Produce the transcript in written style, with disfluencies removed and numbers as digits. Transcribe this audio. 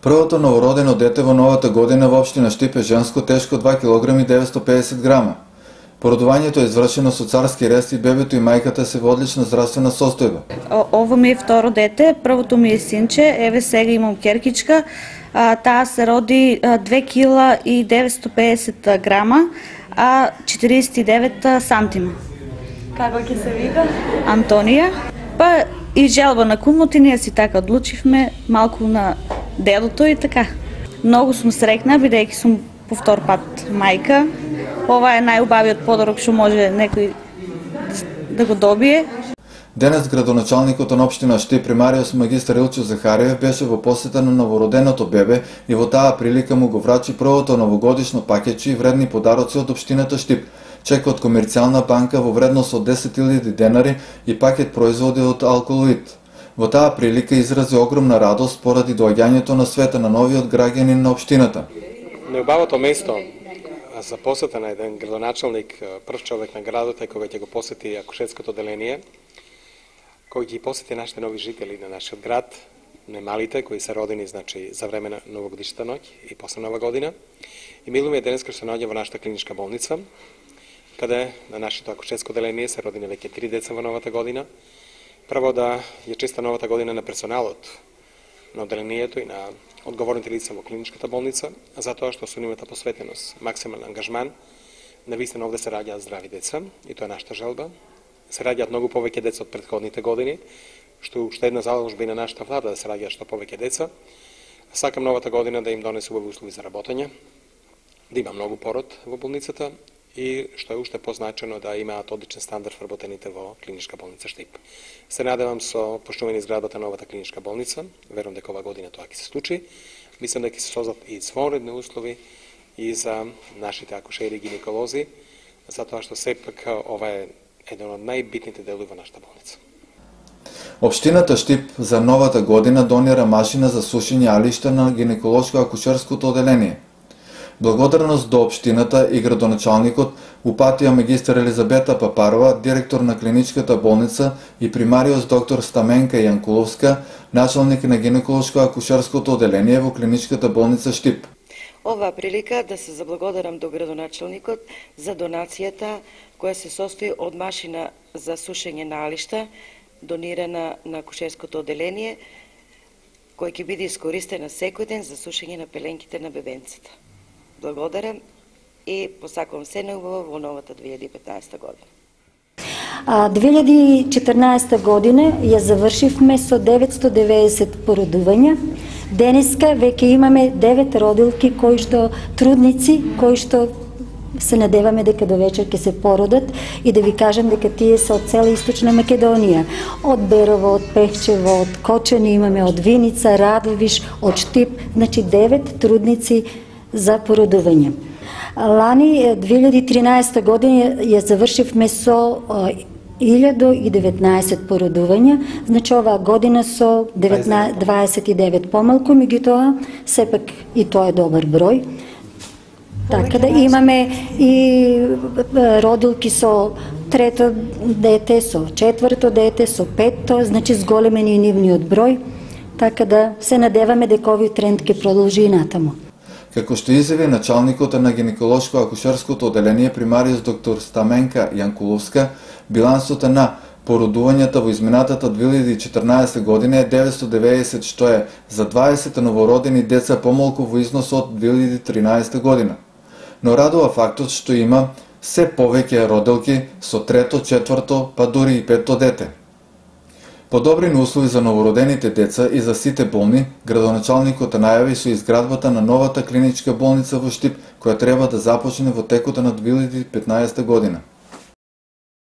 Првото новородено дете во новата година во општина Штип е женско, тешко 2 кг и 950 грама. Породувањето е извршено со царски рест и бебето и мајката се во одлична здравствена состојба. Ово ми е второ дете, првото ми е синче, еве сега имам керкичка. Таа се роди 2 кг и 950 грама, а 49 сантима. Како ќе се вика? Антонија. Па и желба на кумот и ние си така одлучивме малку на делото и така. Многу сум среќна, бидејќи сум по втор пат мајка. Ова е најубавиот подарок што може некој да го добие. Денес градоначалникот на општина Штип примариус магистар Илчо Захариев беше во посета на новороденото бебе и во таа прилика му го врачи првото новогодишно пакетче и вредни подароци од општината Штип. Чек од комерцијална банка во вредност од 10.000 денари и пакет производи од Алколоид. Во таа прилика изрази огромна радост поради доаѓањето на света на новиот граѓанин на општината. Неубавото место за посета на еден градоначалник, прв човек на градот е кога ќе го посети акушерското оделение, кој ги посети нашите нови жители на нашиот град, немалите кои се родени значи за време на новогодишната ноќ и после нова година. И милуме денеска што се наоѓа во нашата клиничка болница, каде на нашето акушерско оделение се родени веќе 3 деца во новата година. Прво да ја честа новата година на персоналот на оделението и на одговорните лица во клиничката болница, затоа што со нивната посветеност, максимален ангажман, навистина овде се раѓаат здрави деца и тоа е нашата желба. Се раѓаат многу повеќе деца од претходните години, што уште една заложба и на нашата влада да се раѓаат што повеќе деца. Сакам новата година да им донесе убави услови за работење, да има многу пород во болницата и што е уште позначено да имаат одличен стандард вработените во клиничка болница Штип. Се надевам со почнување изградбата на новата клиничка болница, верувам дека ова година тоа ќе се случи. Мислам дека ќе се создадат и извонредни услови и за нашите акушери и гинеколози, затоа што сепак ова е еден од најбитните делови во нашата болница. Општината Штип за новата година донира машина за сушење алишта на гинеколошко-акушерското оделение. Благодарност до општината и градоначалникот упатија магистар Елизабета Папарова, директор на клиничката болница, и примариус доктор Стаменка Јанкуловска, началник на гинеколошко-акушерското оделение во клиничката болница Штип. Ова прилика да се заблагодарам до градоначалникот за донацијата која се состои од машина за сушење на алишта, донирана на акушерското оделение, која ќе биде искористена секој ден за сушење на пеленките на бебенцата. Благодарам и посакувам се наубаво во новата 2015 година. 2014 година ја завршивме со 990 породувања. Денеска веќе имаме 9 родилки трудници кои што се надеваме дека до вечер ќе се породат и да ви кажам дека тие се од цела Источна Македонија. Од Берово, од Пехчево, од Кочани имаме, од Виница, Радовиш, од Штип, значи 9 трудници за породување. Лани 2013 година ја завршивме со 1019 породувања, значи оваа година со 29 помалку, меѓутоа сепак и тоа е добар број. Така да имаме и родилки со трето дете, со четврто дете, со петто, значи зголемен и нивниот број, така да се надеваме дека овој тренд ќе продолжи и натаму. Како што изјави началникот на гинеколошко-акушерското оделение примариус доктор Стаменка Јанкуловска, билансот на породувањата во изминатата 2014 година е 990, што е за 20 новородени деца помалку во износ од 2013 година. Но радува фактот што има се повеќе родилки со трето, четврто, па дури и петто дете. Подобрени услови за новородените деца и за сите болни, градоначалникот најави со изградбата на новата клиничка болница во Штип, која треба да започне во текот на 2015 година.